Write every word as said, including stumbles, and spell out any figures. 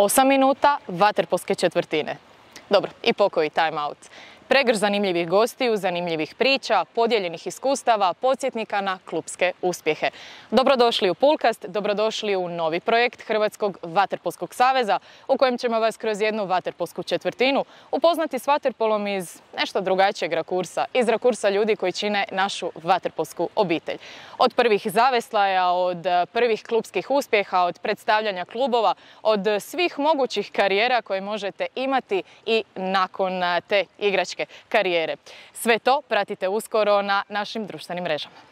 Osam minuta vaterpolske četvrtine. Dobro, i pokoji time out. Pregrš zanimljivih gostiju, zanimljivih priča, podijeljenih iskustava, podsjetnika na klupske uspjehe. Dobrodošli u Pulkast, dobrodošli u novi projekt Hrvatskog vaterpolskog saveza u kojem ćemo vas kroz jednu vaterpolsku četvrtinu upoznati s vaterpolom iz nešto drugačijeg rakursa, iz rakursa ljudi koji čine našu vaterpolsku obitelj. Od prvih zaveslaja, od prvih klupskih uspjeha, od predstavljanja klubova, od svih mogućih karijera koje možete imati i nakon te igračke karijere. Sve to pratite uskoro na našim društvenim mrežama.